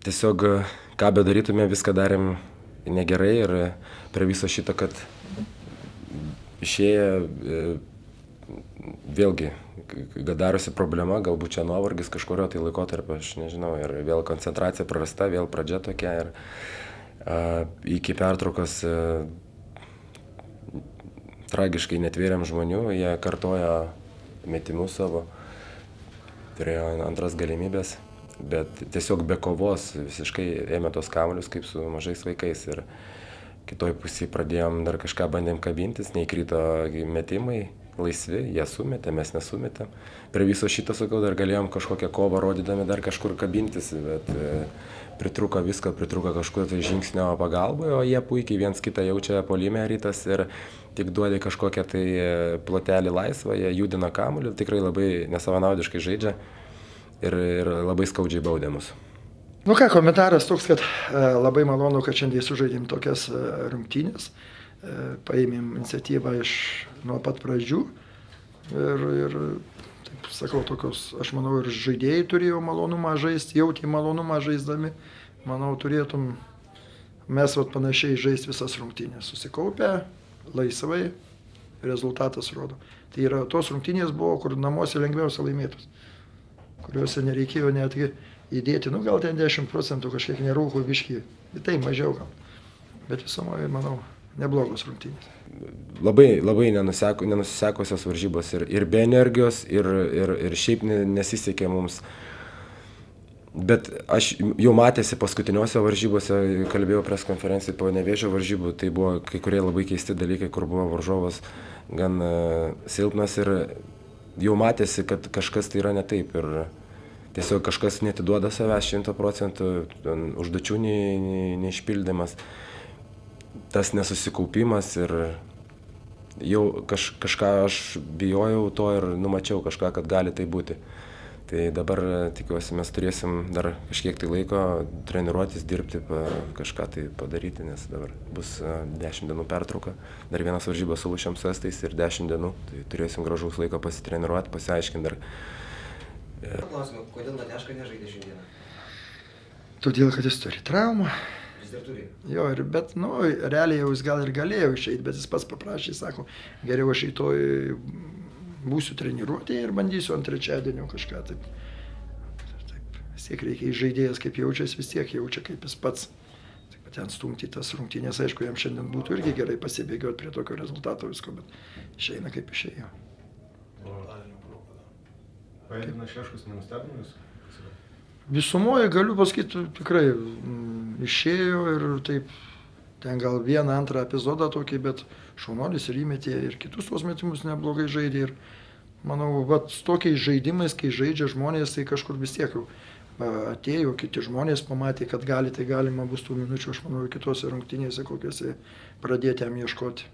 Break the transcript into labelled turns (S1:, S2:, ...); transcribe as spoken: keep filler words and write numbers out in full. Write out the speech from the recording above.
S1: tiesiog, ką bedarytume, viską darėm negerai ir prie viso šito, kad išėję, vėlgi, kad darosi problema, galbūt čia nuovargis kažkurio tai laikotarpio, aš nežinau, ir vėl koncentracija prarasta, vėl pradžia tokia ir a, iki pertraukos a, tragiškai netvėrėm žmonių, jie kartojo metimus savo, turėjo antras galimybės, bet tiesiog be kovos visiškai ėmė tos kamuolius kaip su mažais vaikais ir kitoj pusėje pradėjom dar kažką bandėm kabintis, neįkrito metimai laisvi, jie sumetė, mes nesumetėm. Prie viso šito, sakau, dar galėjom kažkokią kovą rodydami dar kažkur kabintis, bet e, pritruko visko, pritruko kažkur tai žingsnio pagalbai, o jie puikiai viens kitą jaučia puolime rytas ir tik duodė kažkokią tai plotelį laisvą, jie judina kamuolį, tikrai labai nesavanaudiškai žaidžia ir, ir labai skaudžiai baudė mus.
S2: Nu ką, komentaras toks, kad e, labai malonu, kad šiandien sužaidėm tokias e, rungtynės. Paėmėm iniciatyvą iš nuo pat pradžių ir, ir taip sakau, tokios, aš manau, ir žaidėjai turėjo malonumą žaisti, jautė malonumą žaisdami, manau, turėtum mes vat, panašiai žaisti visas rungtynės, susikaupę, laisvai, rezultatas rodo. Tai yra, tos rungtynės buvo, kur namuose lengviausia laimėtos, kuriuose nereikėjo netgi įdėti, nu gal ten dešimt procentų kažkiek nerūkų biškį, bet tai mažiau gal, bet visumoje, manau, neblogos rungtynės.
S1: Labai, labai nenuseko, nenusisekusios varžybos ir, ir be energijos, ir, ir, ir šiaip nesisekė mums. Bet aš jau matėsi paskutiniuose varžybose, kalbėjau pres konferencijai po Nevėžio varžybų, tai buvo kai kurie labai keisti dalykai, kur buvo varžovas gan uh, silpnas ir jau matėsi, kad kažkas tai yra ne taip. Ir tiesiog kažkas netiduoda savęs šimto procentų, užduočių neišpildymas. Tas nesusikaupimas ir jau kaž, kažką aš bijojau to ir numačiau kažką, kad gali tai būti. Tai dabar tikiuosi mes turėsim dar kažkiek tai laiko treniruotis, dirbti, pa, kažką tai padaryti, nes dabar bus dešimt dienų pertrauka, dar vienas varžybas su Lūšiam su Estais ir dešimt dienų, tai turėsim gražaus laiko pasitreniruoti, pasiaiškinti dar.
S3: Klausimą, kodėl Nateška nežaidė šiandieną?
S2: Todėl, kad jis turi traumą.
S3: Jo,
S2: ir, bet, nu, realiai jau jis gal ir galėjo išeiti, bet jis pats paprašė, sako, geriau aš rytoj būsiu treniruotėje ir bandysiu ant trečiadienio kažką taip. Taip, vis tiek reikia žaidėjas, kaip jaučiasi, vis tiek jaučia, kaip jis pats. Taip, ten stumti tas rungtynės, aišku, jam šiandien būtų irgi gerai pasibėgioti prie tokio rezultato visko, bet išeina kaip išėjo.
S4: Paėdina Šeškus nenustebino jūs?
S2: Visumoje galiu pasakyti, tikrai m, išėjo ir taip, ten gal vieną, antrą epizodą tokį, bet šaunuolis ir įmetė ir kitus tos metimus neblogai žaidė. Ir manau, vat, su tokiais žaidimais, kai žaidžia žmonės, tai kažkur vis tiek jau atėjo, kiti žmonės pamatė, kad gali, tai galima bus tų minučių, aš manau, kitose rungtynėse kokiose pradėti jam ieškoti.